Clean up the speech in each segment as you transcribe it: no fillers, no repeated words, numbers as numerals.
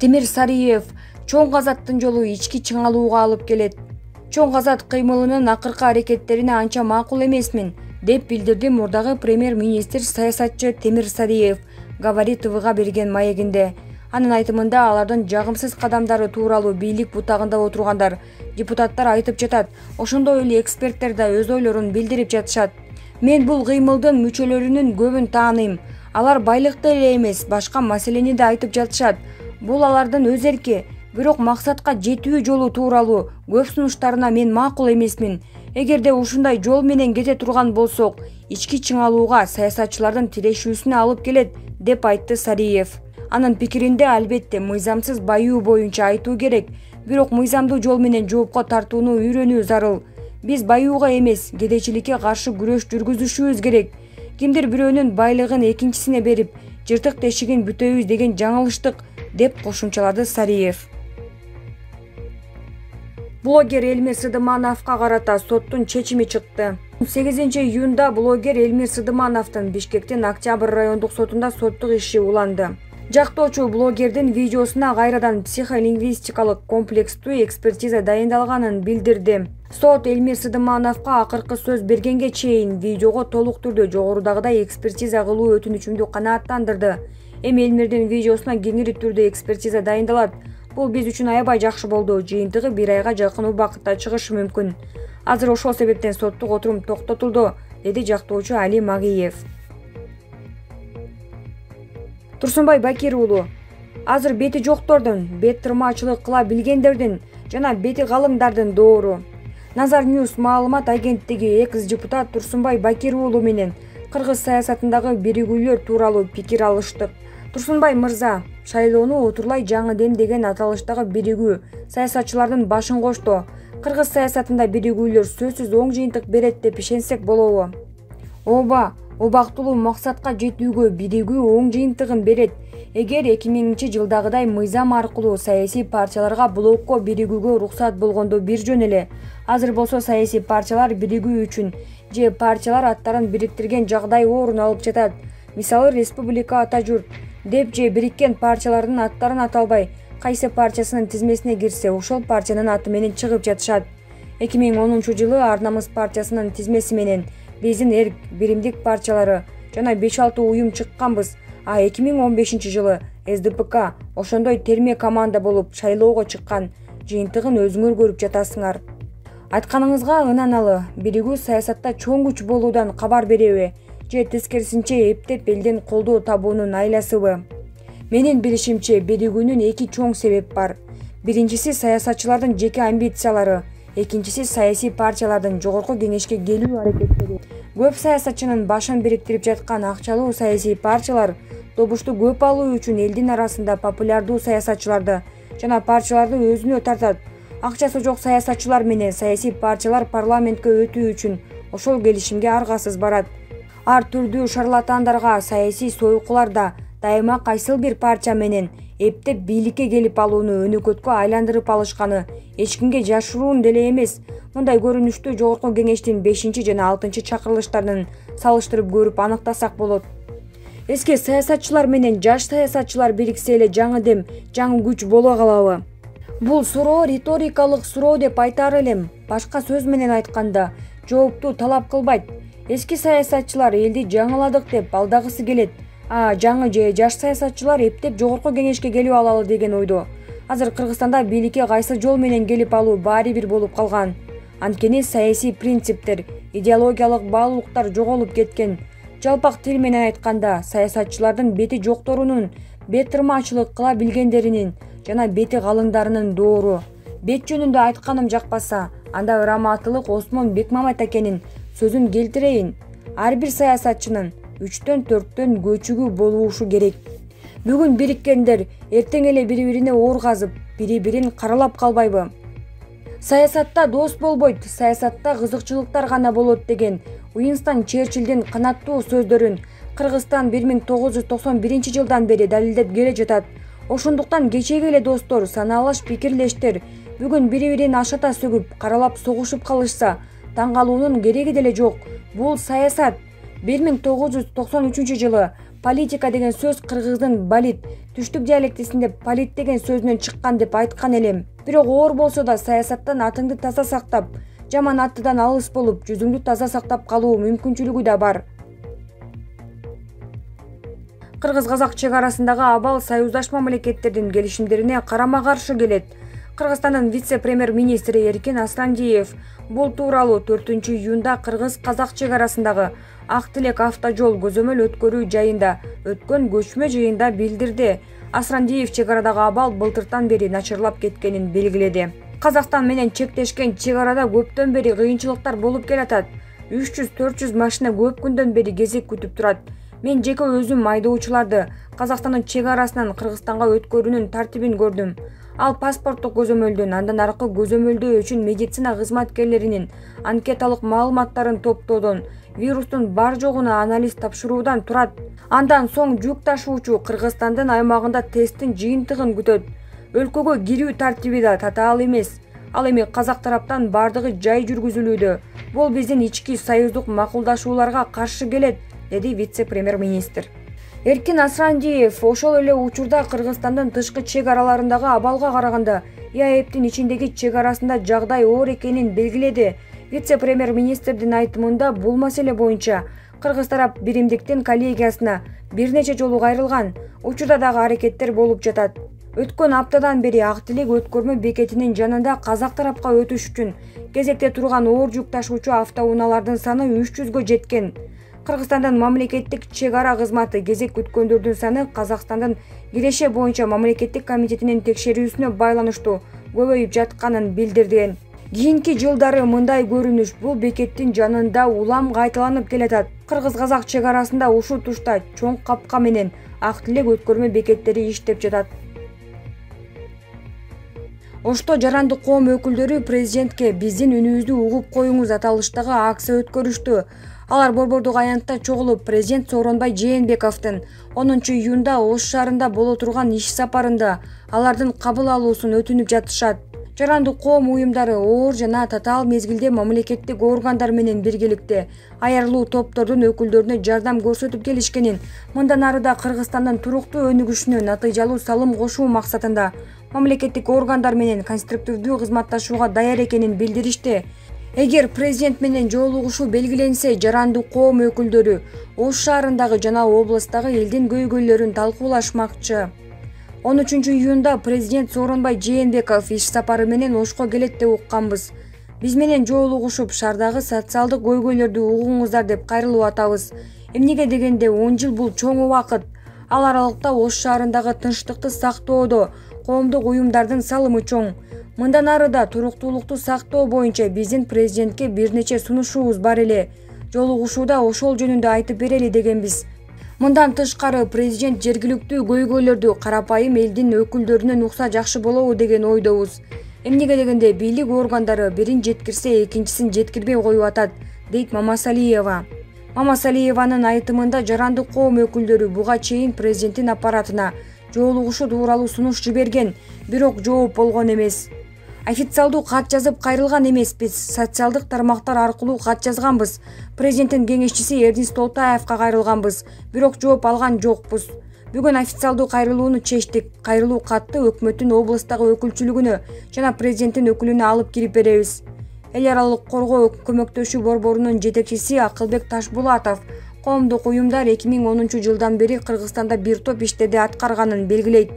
Темир Сариев: чоң казаттын жолу ички чыңалууга алып келет. Чоң казат кыймылынын акыркы аракеттерине анча макул эмесмин, деп билдирди мурдагы премьер-министр саясатчы Темир Сариев Говорит ТВга берген маегинде. Анын айтымында алардын жагымсыз кадамдары тууралуу бийлик бутагында отургандар, депутаттар айтып жатат, ошондой эле эксперттер да өз ойлорун билдирип жатышат. Мен бул кыймылдын мүчөлөрүнүн көбүн тааныйм. Алар байлыкты эле эмес, башка маселени да айтып жатышат. Бул алардын өз эрки, бирок максатка жетүү жолу тууралуу көп сунуштарына мен макул эмесмин. Эгерде ушундай жол менен кете турган болсок, ички чыңалууга саясатчылардын тирешүүсүнө алып келет, деп айтты Сариев. Анын пикиринде албетте мыйзамсыз баюу боюнча айтуу керек, бирок мыйзамдуу жол менен жоопко тартууну үйрөнүү зарыл. Биз баюуга эмес, кедейчиликке каршы күрөш жүргүзүшүбүз керек. Кимдир бирөөнүн байлыгын экинчисине берип, жыртык тешигин бүтөбүз деген жаңылыштык, деп кошумчалады Сариев. Блогер Элмир Сыдымановго карата соттун чечими чыкты. 8-июнда блогер Элмир Сыдымановдун Бишкектин Октябрь райондук сотунда соттук иши уланды. Жактоочу блогердин видеосуна кайрадан психолингвистикалык комплекстүү экспертиза дайындалганын билдирди. Сот Элмир Сыдымановго акыркы сөз бергенге чейин видеого толук түрдө жогорудагыдай экспертиза кылуу өтүнүчүмдү канааттандырды. Эми Элмирдин видеосуна кеңири түрдө экспертиза дайындалат. Бул биз үчүн аябай жакшы болду. Жыйынтыгы 1 айга жакын убакытта чыгышы мүмкүн. Азыр ошол себептен соттук отурум токтотулду, деди жактоочу Али Магиев. Турсунбай Бакир уулу: азыр бети жоктордун, бет тырмаачылык кыла билгендердин жана бети калыңдардын доору. Назар Ньюс маалымат агенттиги экс-депутат Турсунбай Бакир уулу менен кыргыз саясатындагы биригүүлөр тууралуу пикир алыштык. Турсунбай мырза, шайлоону Отурлай жаңы дем деген аталыштагы биригүү саясатчылардын башын кошту. Кыргыз саясатында биригүүлөр сөзсүз оң жыйынтык берет деп ишенсек болобу? Ооба, убактылуу максатка жетүүгө биригүү оң жыйынтыгын берет. Эгер 2000-жылдагыдай мыйзам аркылуу саясий партияларга блокко биригүүгө уруксат болгондо бир жөн эле. Азыр болсо саясий партиялар биригүү үчүн же партиялар аттарын бириктирген жагдай орун алып жатат. Мисалы Республика ата журт деп же бириккен партиялардын аттарын аталбай, кайсы партиясынын тизмесине кирсе, ошол партиянын аты менен чыгып жатышат. 2010-жылы Ар намыс партиясынын тизмеси менен биздин эрк биримдик партиялары жана 5-6 уюм чыкканбыз. А 2015-жылы СДПК ошондой терме команда болуп шайлоого чыккан. Жыйынтыгын өзүңөр көрүп жатасыңар. Айтканыңызга ынаналы, биригүү саясатта чоң күч болуудан кабар береби же тескерисинче эптеп элден колдоо табуунун айласыбы? Менин билишимче, биригүүнүн 2 чоң себеп бар. Биринчиси саясатчылардын жеке амбициялары, экинчиси саясий партиялардын жогорку кеңешке келүү аракеттери. Көп саясатчынын башын бириктирип жаткан акчалуу саясий партиялар добушту көп алуу үчүн элдин арасында популярдуу саясатчыларды жана партияларды өзүнө тартат. Акчасы жок саясатчылар менен саясий партиялар парламентке өтүү үчүн ошол келишимге аргасыз барат. Ар түрдүү шарлатандарга, саясий союкуларда дайыма кайсыл бир партия менен эптеп бийликке келип алууну өнөкөткө айландырып алышканы эч кимге жашыруун деле эмес. Мындай көрүнүштү жогорку кеңештин 5 жана 6 чакырылыштарын салыштырып көрүп аныктасак болот. Эски саясатчылар менен жаш саясатчылар бириксе эле жаңы дем, жаңы күч боло калабы? Бул суроо риторикалык суроо деп айтар элем. Башка сөз менен айтканда, жоопту талап кылбайт. Эски саясатчылар элди жаңыладык деп алдагысы келет. Жаңы же жаш саясатчылар эптеп жогорку кеңешке келип алалы деген ойдо. Азыр Кыргызстанда бийликке кайсы жол менен келип алуу баары бир болуп калган. Анткени саясий принциптер, идеологиялык баалуулуктар жоголуп кеткен. Жалпак тил менен айтканда, саясатчылардын бети жокторунун, бет тырмаачылык кыла билгендеринин жана бети калыңдарынын доору. Бет жөнүндө айтканым жакпаса, анда ыраматтылык Осмон Бекмамет акенин сөзүн келтирейин. Ар бир саясатчынын 3-4 көчүгү болушу керек. Бүгүн бириккендер эртең эле бири-бирине оор казып, бири-бирин каралап калбайбы? Саясатта дос болбойт, саясатта кызыкчылыктар гана болот деген Уинстон Черчиллдин канаттуу сөздөрүн Кыргызстан 1991-жылдан бери далилдеп келе жатат. Ошондуктан кечеги эле достор, санаалаш пикирлештер бүгүн бири-бирин ашата сөгүп, каралап согушуп калышса, таң калуунун кереги деле жок. Бул саясат. 1993-жылы политика деген сөз кыргыздын балит, түштүк диалектисинде полит деген сөзүнөн чыккан деп айткан элем. Бирок оор болсо да саясаттан атыңды таза сактап, жаман аттыдан алыс болуп, жүзүңдү таза сактап калуу мүмкүнчүлүгү да бар. Кыргыз-казак чек арасындагы абал союздаш мамлекеттердин келишимдерине карама-каршы келет. Кыргызстандын вице-премьер-министри Эркин Асрандиев бул тууралуу 4-июнда Кыргыз-казак чек арасындагы Ак Тилек автожол көзөмөл өткөрүү жайында өткөн көчмө жыйында билдирди. Асрандиев чек арадагы абал былтыртан бери начарлап кеткенин белгиледи. Казакстан менен чектешкен чек арада көптөн бери кыйынчылыктар болуп келатат. 300-400 машина көп күндөн бери кезек күтүп турат. Мен жеке өзүм айдоочуларды Казакстандын чек арасынан Кыргызстанга өткөрүүнүн тартибин көрдүм. Ал паспорттук көзөмөлдөн, андан аркы көзөмөлдөө үчүн медицина кызматкерлеринин анкеталык маалыматтарын топтоодон, вирустун бар жогуна анализ тапшыруудан турат. Андан соң жүк ташуучу Кыргызстандын аймагында тесттин жыйынтыгын күтөт. Өлкөгө кирүү тартиби да татаал эмес. Ал эми казак тараптан бардыгы жай жүргүзүлүүдө. Бул биздин ички союздук макулдашууларга каршы келет, деди вице-премьер-министр. Эркин Асрандиев ошол эле учурда Кыргызстандын тышкы чек араларындагы абалга караганда ИАЭПтин ичиндеги чек арасында жагдай оор экенин белгиледи. Вице-премьер-министрдин айтымында бул маселе боюнча Кыргыз тарап биримдиктин коллегиясына бир нече жолу кайрылган. Учурда дагы аракеттер болуп жатат. Өткөн аптадан бери Ак Тилек өткөрмө бекетинин жанында казак тарапка өтүш үчүн кезекте турган оор жүк ташуучу автоунаалардын саны 300гө жеткен. Кыргызстандын мамлекеттик чек ара кызматы кезек күткөндөрдүн саны Казакстандын Киреше боюнча мамлекеттик комитетинин текшерүүсүнө байланыштуу көбөйүп жатканын билдирген. Кийинки жылдары мындай көрүнүш бул бекеттин жанында улам кайталанып келатат. Кыргыз-казак чек арасында ушул тушта чоң капка менен Ак Тилек өткөрмө бекеттери иштеп жатат. Ошто жарандык коом өкүлдөрү президентке биздин үнүбүздү угуп коюңуз аталыштагы акция өткөрүштү. Алар Борбордук аянтта чогулуп, президент Сооронбай Жээнбековдун 10-июнда Ош шаарында боло турган иш сапарында алардын кабыл алуусун өтүнүп жатышат. Жарандык коом уюмдары оор жана татаал мезгилде мамлекеттик органдар менен биргеликте аярлуу топтордун өкүлдөрүнө жардам көрсөтүп келишкенин, мындан ары да Кыргызстандын туруктуу өнүгүшүнө натыйжалуу салым кошуу максатында мамлекеттик органдар менен конструктивдүү кызматташууга даяр экенин билдиришти. Эгер президент менен жолугушуу белгиленсе, жарандык коом өкүлдөрү Ош шаарындагы жана областтагы элдин көйгөйлөрүн талкуулашмакчы. 13-июнда президент Сооронбай Жээнбеков иш сапары менен Ошко келет деп укканбыз. Биз менен жолугушуп, шаардагы социалдык көйгөйлөрдү угуңуздар деп кайрылып атабыз. Эмнеге дегенде 10 жыл бул чоң убакыт. Ал аралыкта Ош шаарындагы тынчтыкты сактоодо коомдук уюмдардын салымы чоң. Мындан ары да туруктуулукту сактоо боюнча биздин президентке бир нече сунушубуз бар эле. Жолугушууда ошол жөнүндө айтып берели дегенбиз. Мындан тышкары президент жергиликтүү көйгөйлөрдү карапайым элдин өкүлдөрүнөн укса жакшы болобу деген ойдобуз. Эмнеге дегенде бийлик органдары бирин жеткирсе экинчисин жеткирбей коюп атат, дейт Мамасалиева. Мамасалиеванын айтымында жарандык коом өкүлдөрү буга чейин президенттин аппаратына жолугушуу тууралуу сунуш жиберген, бирок жооп болгон эмес. Официалдуу кат жазып кайрылган эмеспиз, социалдык тармактар аркылуу кат жазганбыз. Президенттин кеңешчиси Эрдис Толтаевка кайрылганбыз, бирок жооп алган жокпуз. Бүгүн официалдуу кайрылууну чечтик. Кайрылуу катты өкмөттүн областагы өкүлчүлүгүнө жана президенттин өкүлүнө алып кирип беребиз. Эл аралык коргоо көмөктөшүү борборунун жетекчиси Акылбек Ташбулатов коомдук уюмдар 2010-жылдан бери Кыргызстанда бир топ иштерди аткарганын белгилейт.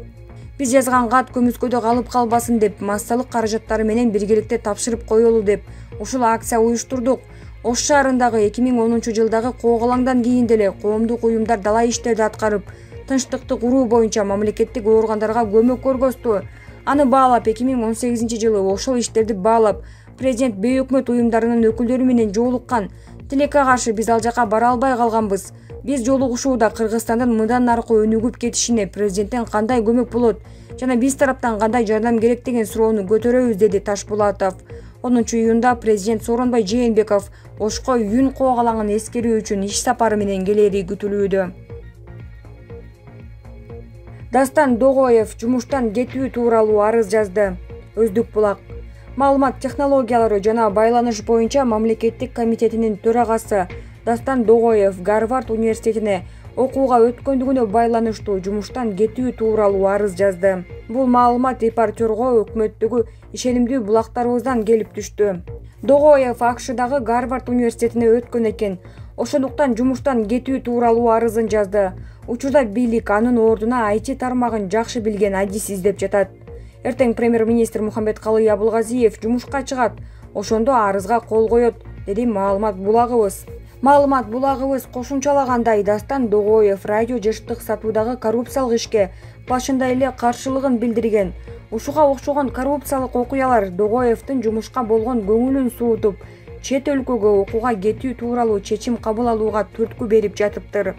Биз жазган кат көмүскөдө калып калбасын деп, массалык каражаттары менен биргеликте тапшырып коелу деп ушул акция уюштурдук. Ош шаарындагы 2010-жылдагы коогалаңдан кийин деле коомдук уюмдар дала иштерди аткарып, тынчтыкты куруу боюнча мамлекеттик органдарга көмөк көргөздү. Аны баалап 2018-жылы ошол иштерди баалап, президент бейөкмөт уюмдарынын өкүлдөрү менен жолуккан. Тилекке каршы биз ал жака бара албай калганбыз. Биз жолугушууда Кыргызстандын мындан аркы өнүгүп кетишине президенттен кандай көмөк болот жана биз тараптан кандай жардам керек деген суроону көтөрөбүз, деди Ташбулатов. 10-июнда президент Сооронбай Жээнбеков Ошко Юн коогалаңын эскерүү үчүн иш сапары менен келери күтүлүүдө. Дастан Догоев жумуштан кетүү тууралуу арыз жазды. Өздүк булак. Маалымат технологиялары жана байланыш боюнча мамлекеттик комитетинин төрагасы Дастан Догоев Гарвард университетине окууга өткөндүгүнө байланыштуу жумуштан кетүү тууралуу арыз жазды. Бул маалымат репортерго өкмөттөгү ишенимдүү булактарыбыздан келип түштү. Догоев АКШдагы Гарвард университетине өткөн экен. Ошондуктан жумуштан кетүү тууралуу арызын жазды. Учурда бийлик анын ордуна IT тармагын жакшы билген адис издеп жатат. Эртең премьер-министр Мухамбеткалый Абылгазиев жумушка чыгат. Ошондо арызга кол коет, деди маалымат булагыбыз. Маалымат булагыбыз кошумчалагандай, Дастан Догоев радио жаштык сатуудагы коррупциялык ишке башында эле каршылыгын билдирген. Ушуга окшогон коррупциялык окуялар Догоевдин жумушка болгон көңүлүн суутуп, чет өлкөгө окууга кетүү тууралуу чечим кабыл алууга түрткү берип жатыптыр.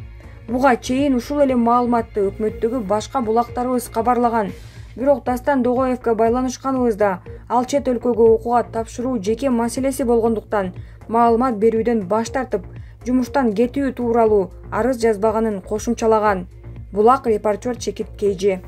Буга чейин ушул эле маалыматты өкмөттөгү башка булактарыбыз кабарлаган. Бирок Дастан Догоевге байланышканыбызда ал чет өлкөгө окууга тапшыруу жеке маселеси болгондуктан маалымат берүүдөн баш тартып, жумуштан кетүү тууралуу арыз жазбаганын кошумчалаган. Булак репортер Чекит Кейжи.